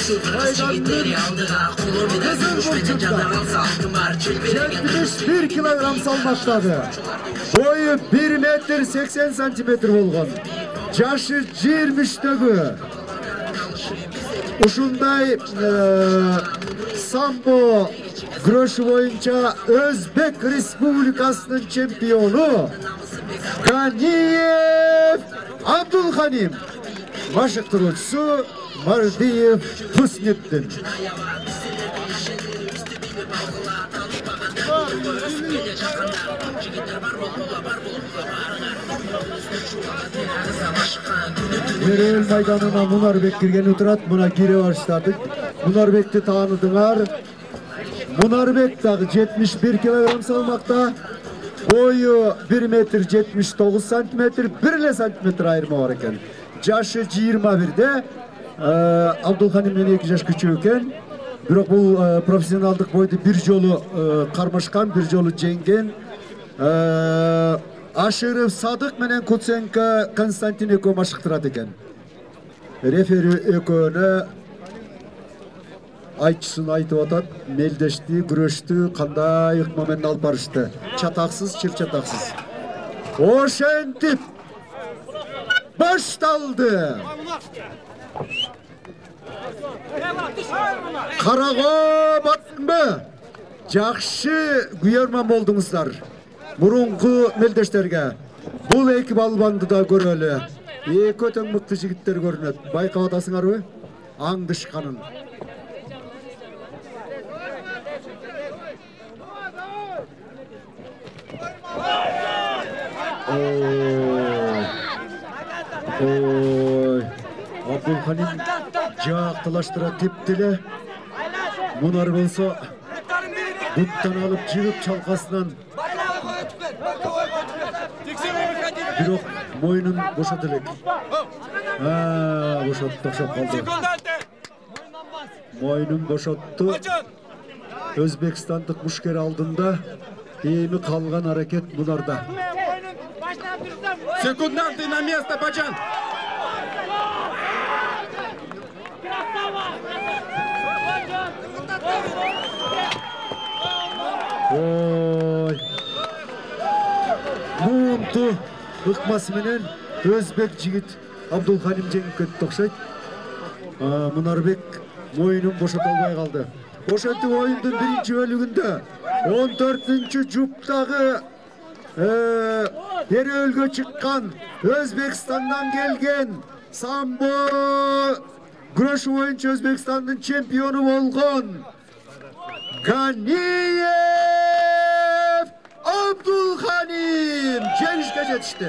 71 килограмм салмактагы. Boyu 1 метр 80 сантиметр болгон. Жашы 23-төгү. Ушундай самбо күрөшү боюнча Өзбек Республикасынын чемпиону Ганиев Абдулханим, машыктыруучусу Мардиев Хуснеттин. Мерел майданына Мунарбек киргени турат, мына кире баштадык. Мунарбекти тааныдыңар. Мунарбек дагы 71 килограмм салмакта. Boyu 1 метр 79 сантиметр, 1 сантиметр айырма бар экен. Жашы 21-де, Абдулханим менен 2 жаш күчүү экен. Бирок бул профессионалдык бойду бир жолу кармашкан, бир жолу жеңген. Ашыров Садык менен Куценко Константин экөө машыктырат экен. Рефери экөөнө айтчысын айтып атат, мелдешти, күрөштү, кандай ыкма менен алып барышты. Чатаксыз, чыр-чатаксыз. Ошентип башталды. Карага батпы. Жакшы күйөрман болдуңуздар. Мурунку мелдештерге. Бул эки балбанды да көрөлү. Эки өтө мыкты жигиттер көрүнөт. Байкап атасыңарбы? Аңдышканын. Абдулханим жактылаштыра тептеле. Мунар болсо буттан алып жыгып чалкасынан. Бирок мойнун бошот элек. Бошотту, окшоп калды. Мойнун бошотту. Өзбекстандык мушкер алдында эми калган аракет Мунарда. Секунданты на место, Баджан! Ой. Мунту ыкмасы менен Өзбек жигит Абдулханим жеңип кетти окшойт. Мунарбек мойнун бошото албай калды. Ошентип оюндун биринчи бөлүгүндө 14-жуптагы Эрөөлгө чыккан Өзбекстандан келген самбо күрөшү боюнча Өзбекстандын чемпиону болгон Ганиев Абдулханим жеңишке жетишти.